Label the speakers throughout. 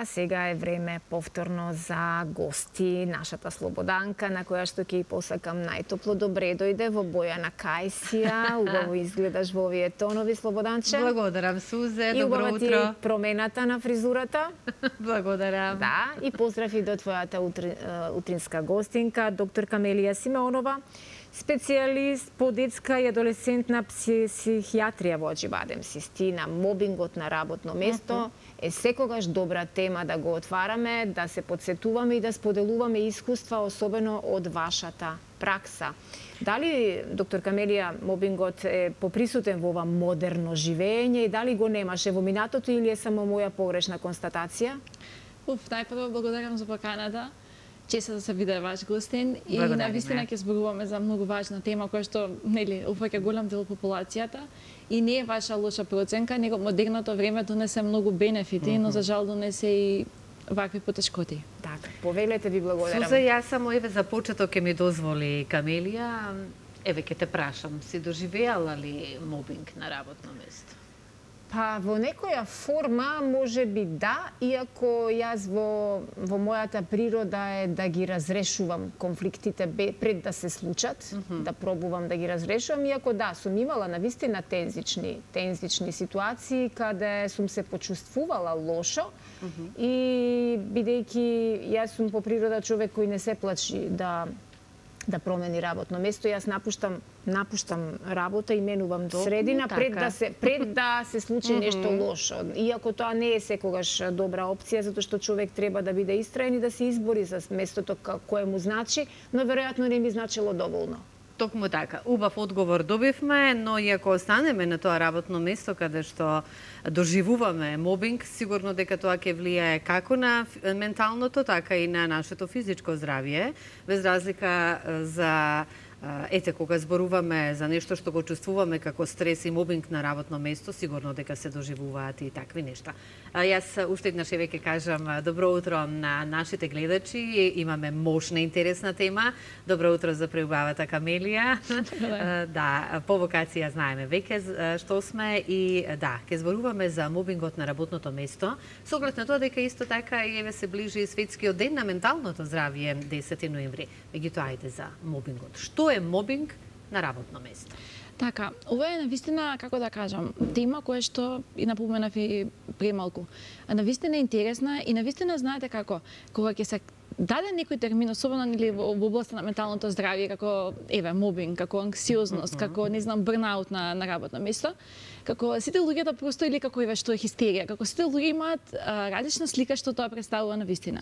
Speaker 1: Сега е време повторно за гости, нашата Слободанка, на која што ќе ја посакам најтопло добре дојде во Бојана Кајсија. Убаво изгледаш во овие тонови, Слободанче.
Speaker 2: Благодарам, Сузе.
Speaker 1: И
Speaker 2: Добро
Speaker 1: убава ти
Speaker 2: утро.
Speaker 1: промената на фризурата.
Speaker 2: Благодарам.
Speaker 1: Да, и поздрав и до твојата утринска гостинка, доктор Камелија Симеонова, специјалист по детска и адолесцентна психијатрија во Аџибадем Систина. Мобингот на работно место е секогаш добра тема да го отвараме, да се подсетуваме и да споделуваме искуства, особено од вашата пракса. Дали, доктор Камелија, мобингот е поприсутен во ова модерно живење и дали го немаше во минатото или е само моја погрешна констатација?
Speaker 3: Најпрво благодарам за поканата. Честа да се биде ваш гостин и навистина ќе зборуваме за многу важна тема која што упаќа голем дел од популацијата и не е ваша лоша проценка, него модерното време донесе многу бенефити, но за жал донесе и вакви потешкоти.
Speaker 1: Така, повелете, ви благодарам.
Speaker 2: Суза, јас само за почеток ќе ми дозволи Камелија, ќе те прашам, си доживеала ли мобинг на работно место?
Speaker 1: Па во некоја форма може би да, иако јас во мојата природа е да ги разрешувам конфликтите пред да се случат, да пробувам да ги разрешувам, иако да, сум имала навистина тензични ситуации каде сум се почувствувала лошо и бидејќи јас сум по природа човек кој не се плачи да промени работно место, јас напуштам работа и менувам средина пред да се случи нешто лошо. Иако тоа не е секогаш добра опција, затоа што човек треба да биде истраен и да се избори за местото кое му значи, но веројатно не ми значило доволно.
Speaker 2: Токму така. Убав одговор добивме, но и ако останеме на тоа работно место каде што доживуваме мобинг, сигурно дека тоа ќе влијае како на менталното, така и на нашето физичко здравје, без разлика за кога зборуваме за нешто што го чувствуваме како стрес и мобинг на работно место, сигурно дека се доживуваат и такви нешта. Јас уште еднаш ќе кажам добро утро на нашите гледачи. Имаме мощна интересна тема. Добро утро за преубавата Камелија. Да, по вокација знаеме веќе што сме и да, ќе зборуваме за мобингот на работното место. Со оглед на тоа дека исто така еве се ближи светскиот ден на менталното здравје 10 ноември. Меѓутоа ајде за мобингот. Што е мобинг на работно место?
Speaker 3: Така, ова е навистина, како да кажам, тема која што и напоменав и премалку. Навистина е интересна и навистина знаете како, кога ќе се даде некој термин, особено во областа на менталното здравје, како мобинг, како анксиозност, како бърнаут на работно место, како сите луѓето просто или како што е хистерија, како сите луѓе имаат различна слика што тоа представува навистина.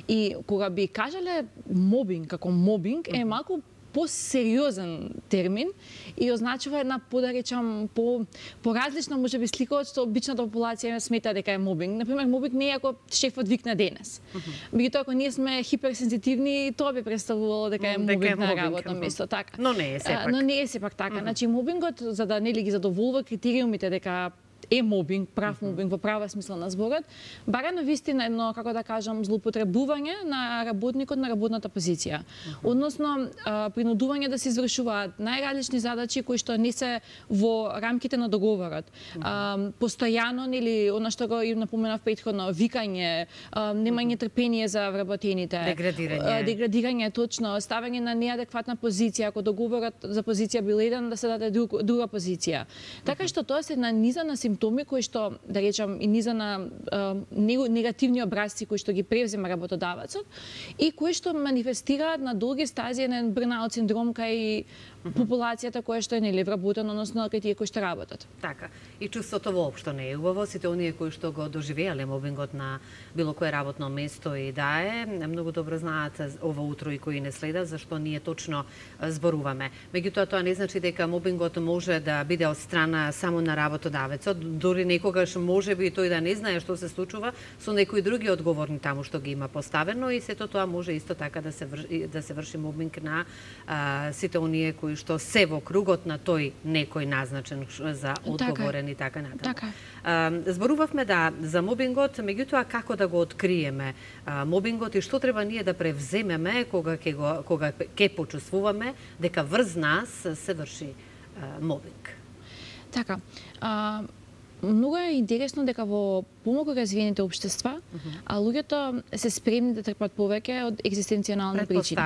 Speaker 3: И кога би кажале мобинг како мобинг е малку по-сериозен термин и означува една, подаречам, по-различна можеби слика од што обичната популација смета дека е мобинг. Например, мобинг не е ако шефот викне денес. Меѓутоа, ако ние сме хиперсензитивни, тоа би представувало дека е мобинг на работно место, така.
Speaker 2: Но не е сепак.
Speaker 3: Но не е сепак така. Значи мобингот за да ги задоволува критериумите дека е мобинг, прав мобинг во права смисла на зборот, бара навистина едно, како да кажам, злоупотребување на работникот на работната позиција. Односно, принудување да се извршуваат најразлични задачи кои што не се во рамките на договорот. Постојано, или она што го напоменав претходно, викање, немање трпение за вработените. Деградирање, точно, ставање на неадекватна позиција, ако договорот за позиција бил еден, да се даде друга позиција. Така што тоа се една низа на симптоми кои што, да речам, и низа на негативни образци кои што ги превзема работодавецот и кои што манифестираат на долги стази на бърнаут синдром кај популацијата која што е вработена, односно кај тие кои што работат.
Speaker 2: Така. И чувството воопшто не е убаво. Сите оние кои што го доживеале мобингот на било кое работно место и да е, многу добро знаат ова утро и кои не следат зашто ние точно зборуваме. Меѓутоа тоа не значи дека мобингот може да биде од страна само на работодавецот, дори некогаш можеби тој да не знае што се случува со некои други одговорни таму што ги има поставено и сето тоа може исто така да се врши мобинг на сите оние кои што се во кругот на тој некој назначен за одговорен и така натаму. Зборувавме за мобингот, меѓутоа како да го откриеме мобингот и што треба ние да превземеме кога ќе почувствуваме дека врз нас се врши мобинг.
Speaker 3: Така, многу е интересно дека во помалку развиените општества, а луѓето се спремни да трпат повеќе од екзистенцијални причини.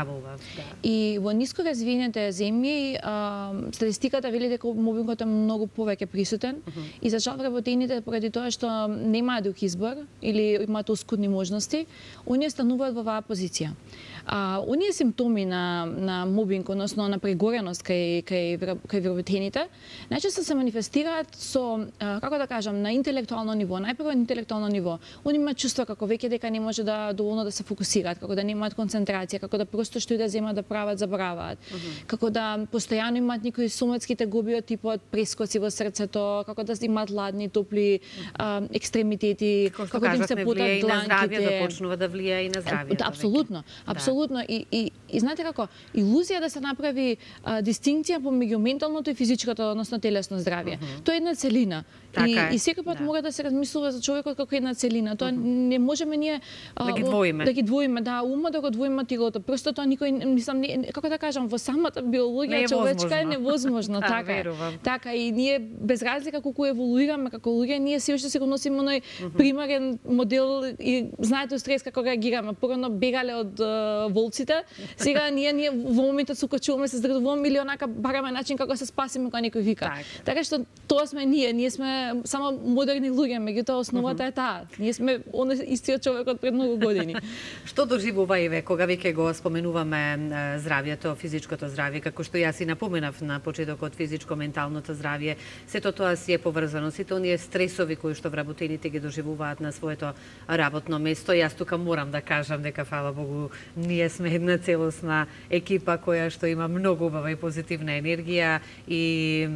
Speaker 3: И во ниско развиените земји статистиката вели дека мобингот е многу повеќе присутен и за жал вработените поради тоа што немаат друг избор или имаат оскудни можности, оние стануваат во оваа позиција. Оние симптоми на мобинг, односно на прегореност кај вработените, најчесто се манифестираат со, како да кажам, на интелектуално ниво. Најпрво на интелектуално ниво. Они имаат чувство како веќе дека не може да доволно да се фокусираат, како да немаат концентрација, како да просто што и да земат да прават, забораваат. Како да постојано имаат некои соматски тегоби од типот прескоци во срцето, како да имаат ладни, топли екстремитети, како да им се потат дланките.
Speaker 2: Да почнува да влијае и на здравјето.
Speaker 3: Апсолутно, апсолутно. И знаете како, илузија да се направи дистинкција помеѓу менталното и физичкото, односно телесно здравје. Тоа е една целина. И секој пат мора да се размислува за човекот како една целина. Тоа не можеме ние
Speaker 2: да ги двоиме.
Speaker 3: Да ги двоиме, да, ума да го двоиме тилото. Просто тоа никој, мислам, како да кажам, во самата биологија човечка е невозможно, така. Така и ние без разлика колку еволуираме како луѓе, ние се уште си го носиме оној примарен модел и знаете стрес како реагираме. Порано бегале од волците, сега ние во моментот се укачуваме, се здравуваме или онака бараме начин како се спасиме кога некој вика. Така што тоа сме ние сме само модерни луѓе, меѓутоа основата е таа. Ние сме истиот човек од пред многу години.
Speaker 2: Што доживува Еве кога веќе го споменуваме здравјето, физичкото здравје, како што јас и напоменав на почетокот, физичко-менталното здравје, сето тоа си е поврзано, сите оние стресови кои што вработените ги доживуваат на своето работно место. Јас тука морам да кажам дека фала Богу ние сме една целосна екипа која што има многу убава и позитивна енергија и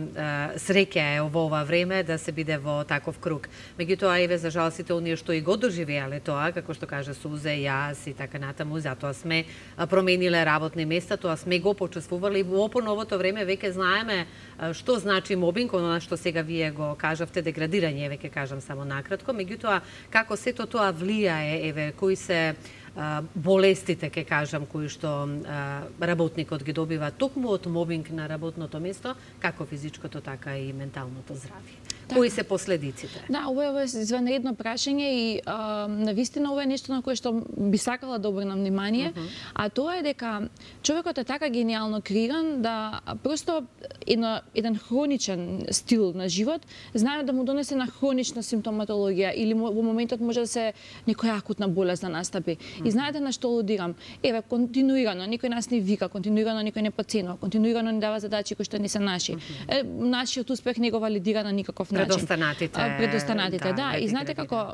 Speaker 2: среќа е во ова време да се биде во таков круг. Меѓутоа, Еве, за жал, сите оние што и го доживеале тоа, како што кажа Сузе, јас и така натаму, затоа сме промениле работни места, тоа сме го почувствувале и во по-новото време веќе знаеме што значи мобинг, она што сега вие го кажавте, деградирање, веќе кажам само накратко, меѓутоа, како сето тоа влијае, Еве, кои се болестите, ке кажам, кои што работникот ги добива токму од мобинг на работното место, како физичкото, така и менталното здравје. Кои се последиците?
Speaker 3: Да, ова е извънредно прашање и навистина ова е нешто на кое што би сакала да обрнам внимание, а тоа е дека човекот е така генијално креиран да просто еден хроничен стил на живот знае да му донесе на хронична симптоматологија или во моментот може да се некоја акутна болест да настапи. И знаете на што алудирам? Еве, континуирано некој нас не вика, континуирано некој не поценува, континуирано не дава задачи кои што не се наши. Нашиот успех не го валидира на никаков начин. Предостанатите, да. И знаете како,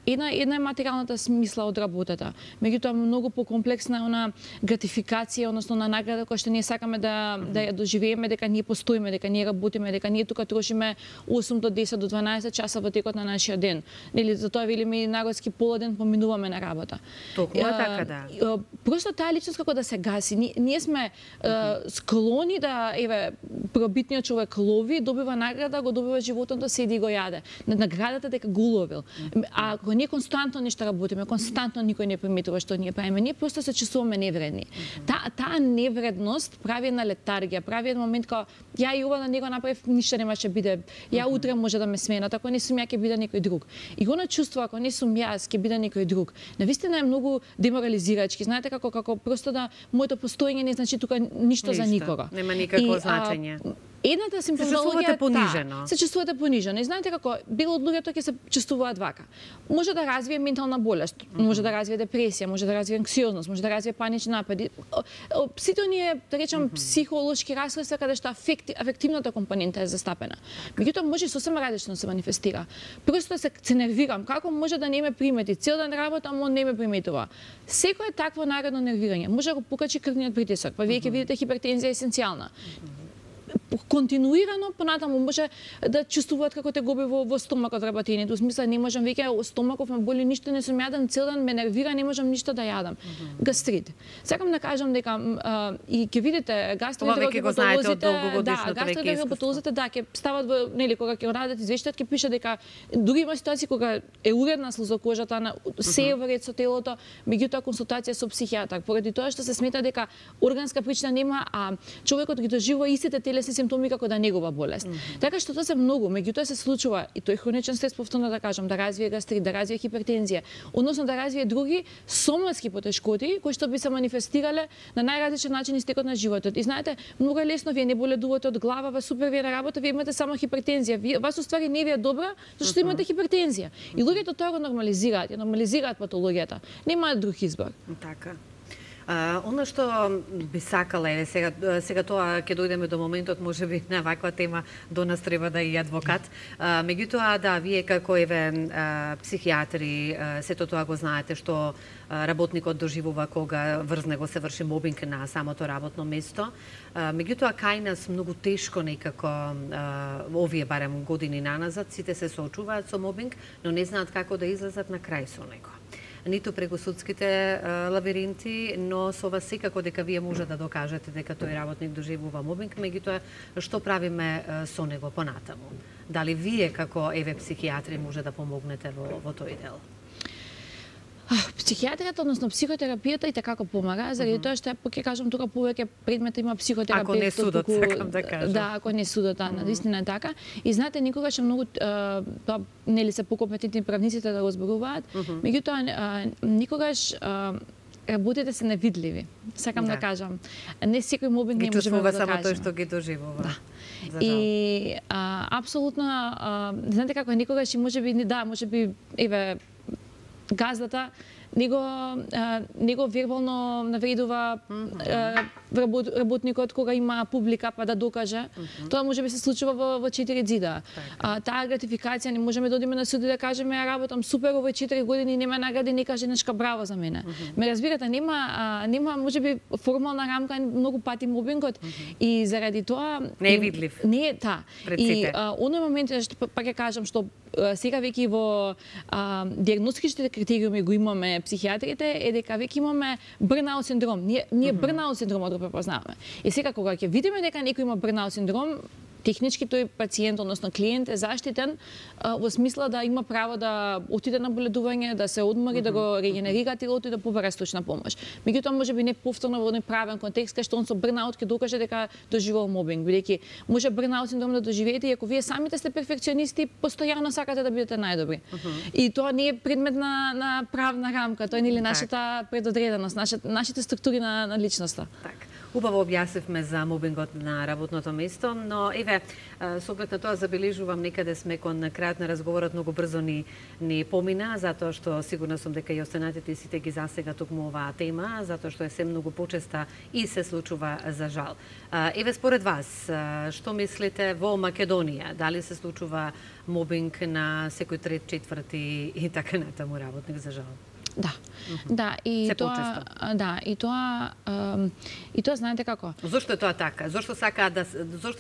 Speaker 3: една е материјалната смисла од работата. Меѓутоа многу покомплексна е она гратификација, односно на награда која што ние сакаме да ја доживееме, дека ние постоиме, дека ние работиме, дека ние тука трошиме 8 до 10 до 12 часа во текот на нашиот ден. Нели затоа велиме и народски пола ден поминуваме на работа.
Speaker 2: Токму така, да.
Speaker 3: Просто таа личност како да се гаси. Ние сме склони да, еве, пробитниот човек лови, добива награда, го добива животот да седи и го јаде. Наградата дека го уловил. А ако ние константно нешто работиме, константно никој не приметува што ние правиме, ние просто се чувствуваме невредни. Таа невредност прави една летаргија, прави еден момент кога ја и ова да не го направив, ништо немаше биде. Ја утре може да ме сменат, ако не сум ја ќе биде некој друг. И го чувство ако не сум јас, ќе биде некој друг. Навистина е многу деморализирачки. Знаете како просто да моето постоење не значи тука ништо за никого.
Speaker 2: Нема никакво значење.
Speaker 3: Едната симптоматологија
Speaker 2: се
Speaker 3: чувствувате понижено. И знаете како дел од луѓето ќе се чувствуваат вака. Може да развие ментална болест, може да развие депресија, може да развие анксиозност, може да развие панични напади. Сите оние, да речам, психолошки расстройства каде што афективната компонента е застапена. Меѓутоа може сосема различно се манифестира. Просто се нервирам, како може да не ме примети, цел ден работам, он не ме приметува. Секое такво наредно нервирање може да го покачи крвниот притисок, па вие ќе видите хипертензија есенцијална. Континуирано понатаму може да чувствуваат како те губи во стомакот работењето. Во смисла не можам веќе стомаков ме боли, ништо не сум јаден, цел ден ме нервира, не можам ништо да јадам. Гастрит. Сакам да кажам дека и ќе видите гастроентеропатолозите, да, ќе стават во нели кога ќе радат извештаат, ќе пише дека дури има ситуации кога е уредна слезокожата, на се е во ред со телото, меѓутоа консултација со психијатар, поради тоа што се смета дека органска причина нема, а човекот ги доживува истите телесни симптоми како да негова болест. Така што тоа се многу, меѓутоа се случува и тој хроничен стрес, повторно да кажам, да развие гастрит, да развие хипертензија, односно да развие други соматски потешкоти кои што би се манифестирале на најразличен начин истекот на животот. И знаете, многу е лесно, вие не боледувате од глава, супер ви е на работа, вие имате само хипертензија. Вас уствари не ви е добра, зашто имате хипертензија. И луѓето тоа го нормализираат, ја нормализираат патологијата. Немаат друг избор.
Speaker 2: Така. Оно што би сакала е сега тоа ќе дојдеме до моментот можеби на ваква тема до нас треба да и адвокат. Меѓутоа да, вие како психијатри сето тоа го знаете што работникот доживува кога врз него се врши мобинг на самото работно место. Меѓутоа кај нас многу тешко некако овие барем години наназад сите се соочуваат со мобинг, но не знаат како да излезат на крај со него. Ниту преку судските лабиринти, но со вас секако дека вие може да докажете дека тој работник доживува мобинг, меѓутоа што правиме со него понатаму? Дали вие како психијатри може да помогнете во тој дел?
Speaker 3: Психијатријата, односно психотерапијата и така помага, заради тоа што ќе кажам тука повеќе предмет има психотерапија.
Speaker 2: Ако не судот, сакам да кажам.
Speaker 3: Да, ако не судот, навистина е така. И знаете, никогаш многу тоа нели се покомпетентни правниците да го зборуваат, меѓутоа никогаш работите се невидливи. Сакам да кажам. Не секој мобинг не може да го докаже.
Speaker 2: Само тој што ги доживува.
Speaker 3: И апсолутно, знаете како никогаш и можеби газдата него вербално навредува работникот кога има публика па да докаже. Тоа можеби се случува во 4 зида. Таа гратификација не можеме да одиме на суд и да кажеме ја работам супер овој 4 години нема награди, не каже нешка браво за мене. Ме разбирате, нема можеби формална рамка многу пати мобингот и заради тоа
Speaker 2: не е видлив.
Speaker 3: Не е И оној момент што па ќе кажам што сега веќе во диагностичните критериуми го имаме психијатрите е дека веќе имаме бърнаут синдром. Ние бърнаут синдромот го препознаваме. И сега кога ќе видиме дека некој има бърнаут синдром, технички тој пациент, односно клиент е заштитен во смисла да има право да отиде на боледување, да се одмори, да го регенерира телото и да побара случна помош. Меѓутоа можеби не повторно во правен контекст кај што он со бърнаут ќе докаже дека доживува мобинг, бидејќи може бърнаут синдром да доживеете и ако вие самите сте перфекционисти, постојано сакате да бидете најдобри. И тоа не е предмет на правна рамка, тоа е нели нашата предодреденост, нашите структури на личноста.
Speaker 2: Убаво објаснивме за мобингот на работното место, но со оглед на тоа забележувам некаде сме кон крајот на разговорот многу брзо ни помина, затоа што сигурна сум дека и останатите сите ги засега токму оваа тема, затоа што е се многу почеста и се случува за жал. Според вас, што мислите во Македонија? Дали се случува мобинг на секој трет, четврти и така натаму работник за жал?
Speaker 3: Да, и тоа знаете како?
Speaker 2: Зошто е тоа така? Зошто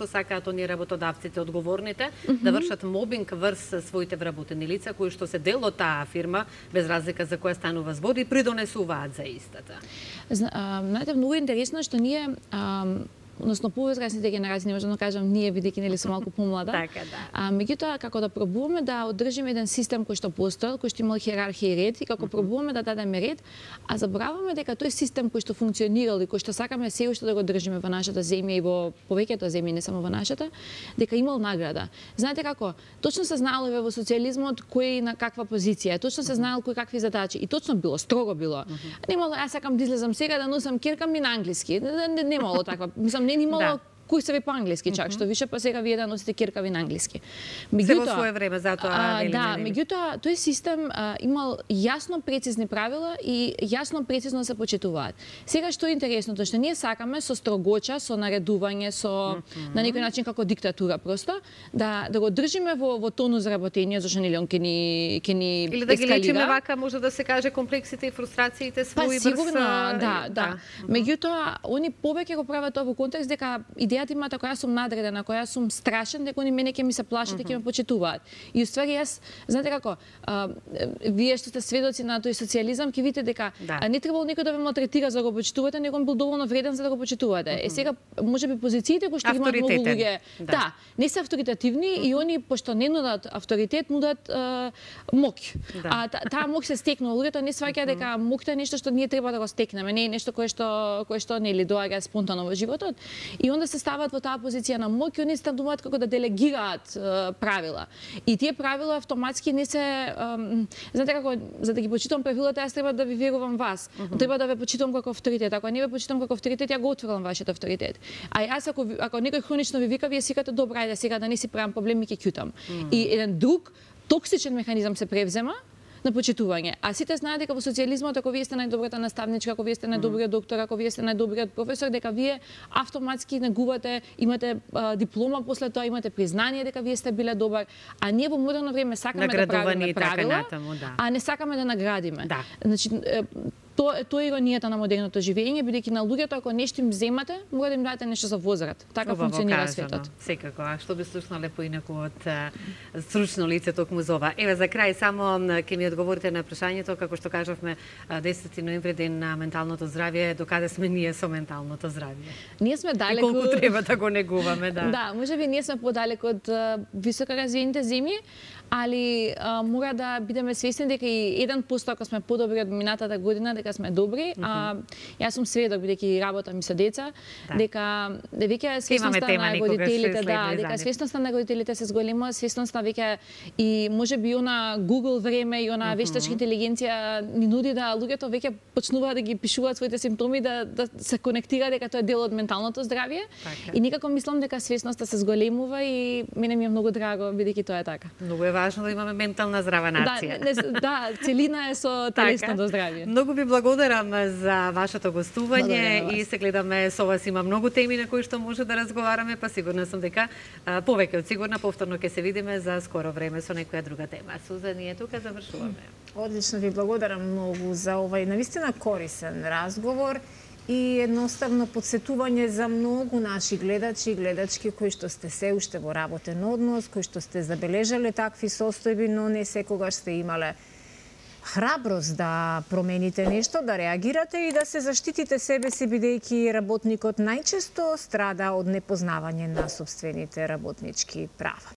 Speaker 2: сакаат оние работодавците одговорните да вршат мобинг врз своите вработени лица кои што се дел од таа фирма без разлика за која станува збор и придонесуваат за истата?
Speaker 3: Знаете, многу интересно што ние односно повозрасните генерации, не можам да кажам ние, бидејќи нели сум малку помлада.
Speaker 2: Така, да.
Speaker 3: Меѓутоа како да пробуваме да одржиме еден систем кој што постоел, кој што имал хиерархија и ред, и како пробуваме да дадеме ред, а забораваме дека тој систем кој што функционирал и кој што сакаме се уште да го држиме во нашата земја и во повеќето земји, не само во нашата, дека имал награда. Знаете како? Точно се знаело во социјализмот кој на каква позиција, точно се знаел кој какви задачи и точно било, строго било. Немало јас сакам да излезам сега да носам кирка ми на англиски. Немало таква. Мислам, не имало курсеви по англиски чак, што више па сега вие да носите киркави на англиски.
Speaker 2: Се во свое време затоа
Speaker 3: меѓутоа тој систем имал јасно прецизни правила и јасно прецизно се почитуваат. Сега што е интересното што ние сакаме со строгоча, со наредување, со на некој начин како диктатура просто да го држиме во тонус работење, зашто нели он ќе ни
Speaker 2: или да ги лечиме вака може да се каже комплексите и фрустрациите своји
Speaker 3: сигурно, да. Меѓутоа они повеќе го прават тоа во контекст дека идејата има дека јас сум надредена, ако јас сум страшен, дека они мене ќе ми се плашат и ќе ме почитуваат. И уствари јас, знаете како, вие што сте сведоци на тој социјализам, ќе видите дека не требало некој да ве малтретира за да го почитувате, него бил доволно вреден за да го почитувате. Сега можеби позициите кои што имаат многу луѓе, не се авторитативни и они пошто не нудат авторитет, нудат моќ. Таа моќ се стекнува. Луѓето не сваќаат дека моќта е нешто што ние треба да го стекнеме, не е нешто кое што нели доаѓа спонтано во животот. И онда се стават во таа позиција на моќ, они стануваат како да делегираат правила. И тие правила автоматски не се знаете како, за да ги почитам правилата, јас треба да ви верувам вас. Треба да ве почитам како авторитет. Ако не ве почитам како авторитет, ја го отфрлам вашиот авторитет. А јас ако некој хронично ви вика, вие сикате добра, ајде сега да не си правам проблеми, ќе ќутам. И еден друг токсичен механизам се превзема на почитување. А сите знаат дека во социјализмот, ако вие сте најдобрата наставничка, ако вие сте најдобриот доктор, ако вие сте најдобриот професор, дека вие автоматски негувате, имате диплома после тоа, имате признание дека вие сте биле добар. А ние во модерно време сакаме да правиме правила, а не сакаме да наградиме.
Speaker 2: Да.
Speaker 3: Значи, тоа е иронијата на модерното живење, бидејќи на луѓето ако нешто им земате, мора да им дадете нешто за возврат. Така функционира светот.
Speaker 2: Секако, а што би слушнале поинаку од стручно лице токму за ова. Еве за крај само ќе ми одговорите на прашањето, како што кажавме 10 ноември ден на менталното здравје, докаде сме ние со менталното здравје?
Speaker 3: Ние сме далеку.
Speaker 2: И колку треба да го негуваме, да.
Speaker 3: Да, можеби ние сме подалеку од високо развиените земји, али мора да бидеме свесни дека и 1% ако сме подобри од минатата година, дека сме добри. Јас сум сведок бидејќи работам и со деца, дека веќе свесноста на родителите, дека свесноста на родителите се зголема, свесноста веќе и можеби она Google време и она вештачка интелигенција ни нуди да луѓето веќе почнуваат да ги пишуваат своите симптоми, да се конектира дека тоа е дел од менталното здравје. И некако мислам дека свесноста се зголемува и мене ми е многу драго бидејќи тоа е така.
Speaker 2: Многу е важно да имаме ментална здрава нација.
Speaker 3: Да, целина е со телесното здравје.
Speaker 2: Многу ви благодарам за вашето гостување и се гледаме со вас, има многу теми на кои што може да разговараме, па сигурна сум дека повеќе од сигурна повторно ќе се видиме за скоро време со некоја друга тема. Суза, ние тука завршуваме.
Speaker 1: Одлично, ви благодарам многу за овај навистина корисен разговор и едноставно подсетување за многу наши гледачи и гледачки кои што сте се уште во работен однос, кои што сте забележале такви состојби, но не секогаш сте имале храброст да промените нешто, да реагирате и да се заштитите себе си, бидејќи работникот најчесто страда од непознавање на сопствените работнички права.